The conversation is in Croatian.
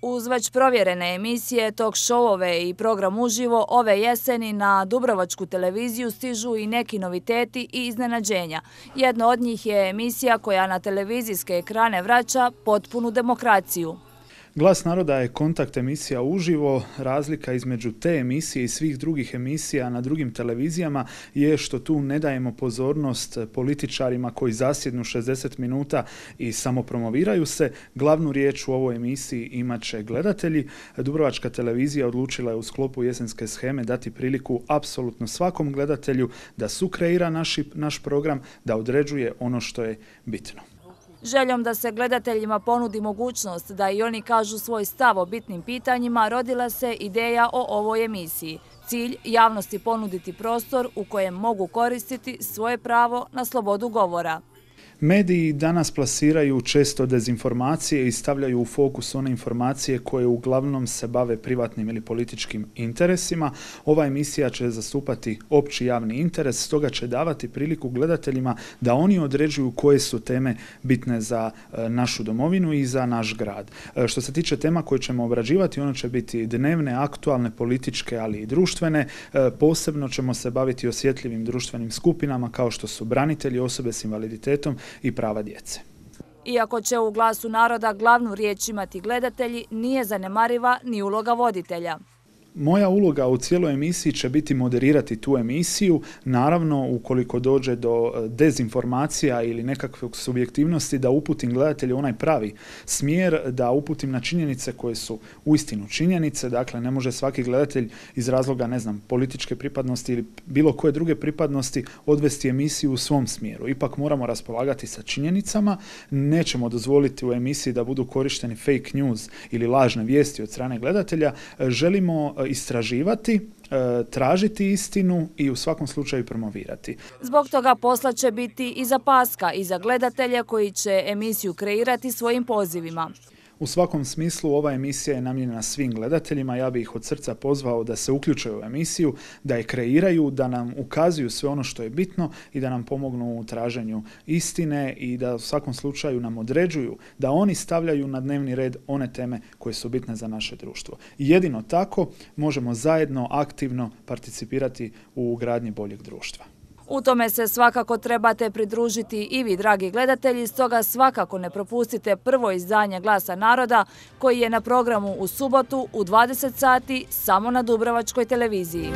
Uz već provjerene emisije, talk showove i program uživo, ove jeseni na Dubrovačku televiziju stižu i neki noviteti i iznenađenja. Jedno od njih je emisija koja na televizijske ekrane vraća potpunu demokraciju. Glas naroda je kontakt emisija uživo. Razlika između te emisije i svih drugih emisija na drugim televizijama je što tu ne dajemo pozornost političarima koji zasjednu 60 minuta i samo promoviraju se. Glavnu riječ u ovoj emisiji imat će gledatelji. Dubrovačka televizija odlučila je u sklopu jesenske sheme dati priliku apsolutno svakom gledatelju da sukreira naš program, da određuje ono što je bitno. Željom da se gledateljima ponudi mogućnost da i oni kažu svoj stav o bitnim pitanjima, rodila se ideja o ovoj emisiji. Cilj javnosti ponuditi prostor u kojem mogu koristiti svoje pravo na slobodu govora. Mediji danas plasiraju često dezinformacije i stavljaju u fokus one informacije koje uglavnom se bave privatnim ili političkim interesima. Ova emisija će zastupati opći javni interes, stoga će davati priliku gledateljima da oni određuju koje su teme bitne za našu domovinu i za naš grad. Što se tiče tema koje ćemo obrađivati, one će biti dnevne, aktualne, političke, ali i društvene. Posebno ćemo se baviti osjetljivim društvenim skupinama kao što su branitelji, osobe s invaliditetom i prava djece. Iako će u Glasu naroda glavnu riječ imati gledatelji, nije zanemariva ni uloga voditelja. Moja uloga u cijeloj emisiji će biti moderirati tu emisiju. Naravno, ukoliko dođe do dezinformacija ili nekakve subjektivnosti, da uputim gledatelje u onaj pravi smjer, da uputim na činjenice koje su uistinu činjenice. Dakle, ne može svaki gledatelj iz razloga, političke pripadnosti ili bilo koje druge pripadnosti odvesti emisiju u svom smjeru. Ipak moramo raspolagati sa činjenicama. Nećemo dozvoliti u emisiji da budu korišteni fake news ili lažne vijesti od strane gledatelja. Želimo istraživati, tražiti istinu i u svakom slučaju promovirati. Zbog toga posla će biti i za Paska i za gledatelje koji će emisiju kreirati svojim pozivima. U svakom smislu ova emisija je namijenjena svim gledateljima. Ja bih ih od srca pozvao da se uključe u emisiju, da je kreiraju, da nam ukazuju sve ono što je bitno i da nam pomognu u traženju istine i da u svakom slučaju nam određuju da oni stavljaju na dnevni red one teme koje su bitne za naše društvo. I jedino tako možemo zajedno aktivno participirati u gradnji boljeg društva. U tome se svakako trebate pridružiti i vi, dragi gledatelji, stoga svakako ne propustite prvo izdanje Glasa naroda koji je na programu u subotu u 20 sati samo na Dubrovačkoj televiziji.